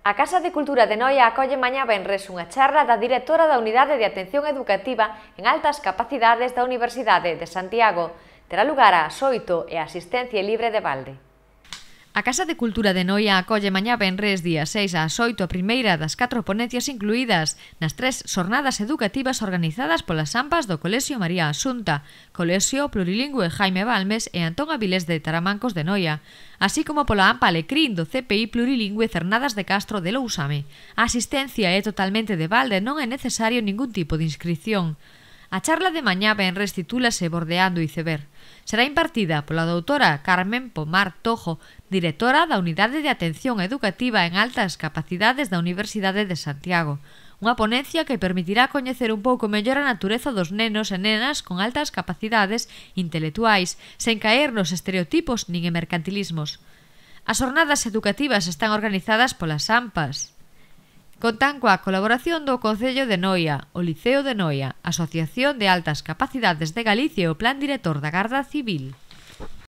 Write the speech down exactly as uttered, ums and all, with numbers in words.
A Casa de Cultura de Noia acolle mañá venres unha charla da directora da Unidade de Atención Educativa en Altas Capacidades da Universidade de Santiago. Terá lugar ás oito e a asistencia libre de balde. A Casa de Cultura de Noia acolle mañá venres día seis ás oito a primeira das catro ponencias incluídas nas tres xornadas educativas organizadas polas AMPAs do Colexio María Asunta, Colexio Plurilingüe Jaime Balmes e Antón Avilés de Taramancos de Noia, así como pola AMPA Alecrín do C P I Plurilingüe Cernadas de Castro de Lousame. A asistencia é totalmente de balde e non é necesario ningún tipo de inscripción. A charla de mañá venres titúlase Bordeando Iceberg. Será impartida pola doutora Carmen Pomar Tojo, directora da Unidade de Atención Educativa en Altas Capacidades da Universidade de Santiago. Unha ponencia que permitirá coñecer un pouco mellor a natureza dos nenos e nenas con altas capacidades intelectuais, sen caer nos estereotipos nin en mercantilismos. As xornadas educativas están organizadas polas AMPAs. Contan coa colaboración do Concello de Noia, o Liceo de Noia, a Asociación de Altas Capacidades de Galicia e o Plan Director da Garda Civil.